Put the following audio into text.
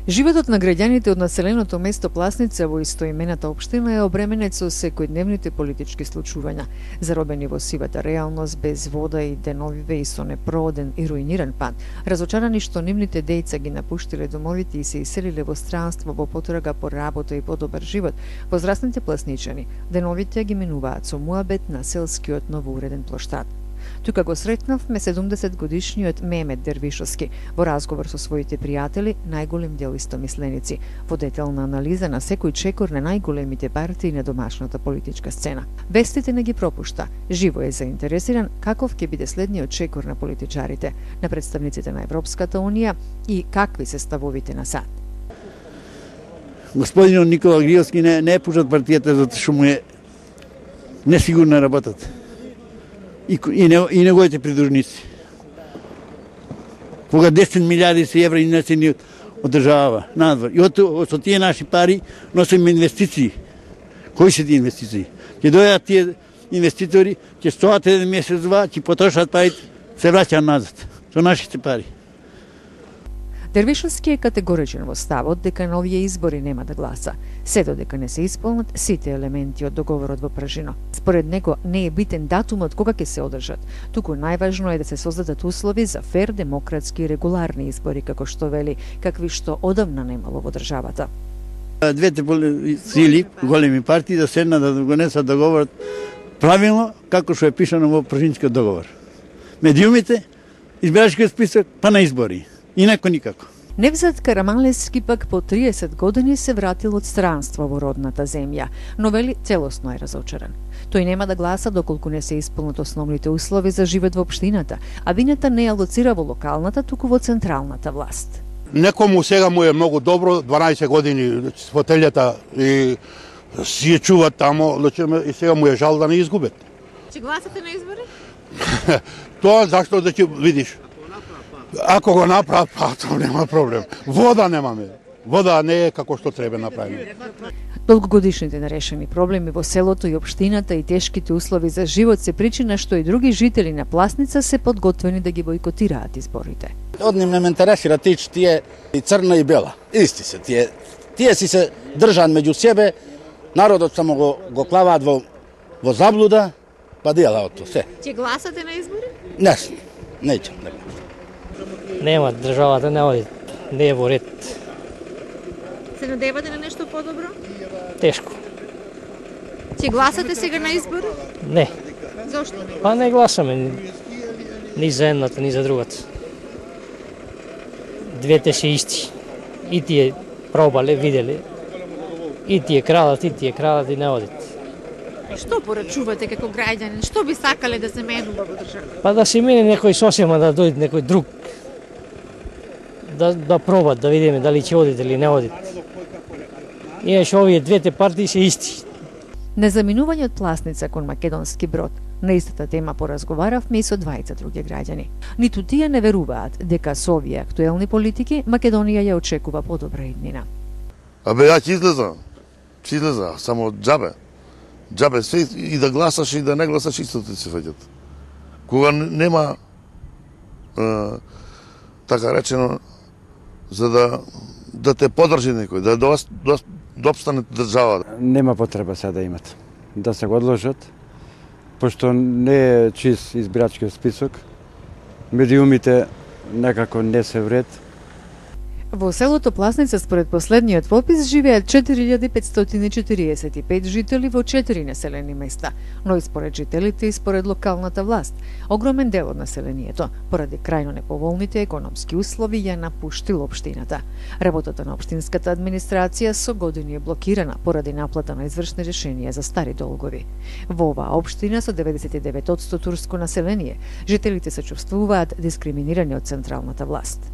Животот на граѓаните од населеното место Пласница во истоимената општина е обременет со секојдневните политички случувања, заробени во сивата реалност, без вода и деновиве и со непрооден и руиниран пат, разочарани што нивните деца ги напуштиле домовите и се иселиле во странство во потрага по работа и подобар живот, возрастните пласничани деновите ги минуваат со муабет на селскиот новоуреден плоштад. Тука го сретнавме 70-годишниот Мемет Дервишовски во разговор со своите пријатели, најголем дел истомисленици, во детална анализа на секој чекор на најголемите партии на домашната политичка сцена. Вестите не ги пропушта, живо е заинтересиран каков ќе биде следниот чекор на политичарите, на представниците на Европската Унија и какви се ставовите на САД. Господинот Никола Гриевски не е пушат партијата затоа што му е несигурна работата. И неговите придружници. Кога 10 милиарди евра инесени од држава надвор. И со тие наши пари носиме инвестиции. Кои се тие инвестиции? Ќе дојдат тие инвеститори, ќе стоат еден месец, два, ќе потрошат парите, се враќаат назад со нашите пари. Дервишовски е категоричен во ставот дека на овие избори нема да гласа, се додека не се исполнат сите елементи од договорот во прашино. Според него не е битен датумот кога ќе се одржат, туку најважно е да се создадат услови за фер, демократски и регуларни избори, како што вели, какви што одамна немало во државата. Двете сили, големи партии, да седнат да го несат договорот правилно, како што е пишано во прашинскиот договор. Медиумите, избирачкиот список, па на избори. Инако никако. Невзат Караманлевски пак по 30 години се вратил од странство во родната земја, но вели целосно е разочаран. Тој нема да гласа доколку не се исполнат основните услови за живот во општината, а вината не ја лоцира во локалната, туку во централната власт. Некому сега му е многу добро, 12 години фотелјата и си ја чуват тамо, и сега му е жал да не изгубет. Ќе гласате на избори? Тоа зашто да ќе видиш. Ако го направат, па тоа нема проблем. Вода немаме. Вода не е како што треба направено. Долгогодишните нерешени проблеми во селото и општината и тешките услови за живот се причина што и други жители на Пласница се подготвени да ги бойкотираат изборите. Од ним не ме интересира тие и црна и бела. Исти се тие. Тие си се држан меѓу себе, народот само го клаваат во заблуда, па делаат тоа се. Ќе гласате на избори? Не, неќам. Нема, државата не оди, не е во ред. Се надевате на нешто подобро? Тешко. Ќе гласате сега на избори? Не. Зошто не? Па не гласаме ни за едната, ни за другата. Двете се исти. И тие пробале, виделе. И тие крадат и не одат. Што порачувате како граѓанин? Што би сакале да се менува во државата? Па да се мене некој сосема, да дојде некој друг. Да пробат, да видиме дали ќе одите или не одите. Иначе овие двете партии се исти. Незаминувањето од Пласница кон Македонски Брод. На истата тема поразговаравме и со двајца други граѓани. Ниту тие не веруваат дека со овие актуелни политики Македонија ја очекува подобра иднина. Абе, ја ќе излеза, само џабе. Џабе све и да гласаш и да не гласаш исто ти се фаќат. Кога нема така речено за да те подржи некој, да обстане државата. Нема потреба сега да имат. Да се го одложат, пошто не е чист избирачкиот список. Медиумите некако не се вред. Во селото Пласница според последниот попис живеат 4545 жители во 4 населени места, но и според жителите и според локалната власт. Огромен дел од населението, поради крајно неповолните економски услови, ја напуштил општината. Работата на општинската администрација со години е блокирана поради наплата на извршни решенија за стари долгови. Во оваа општина со 99% турско население, жителите се чувствуваат дискриминирани од централната власт.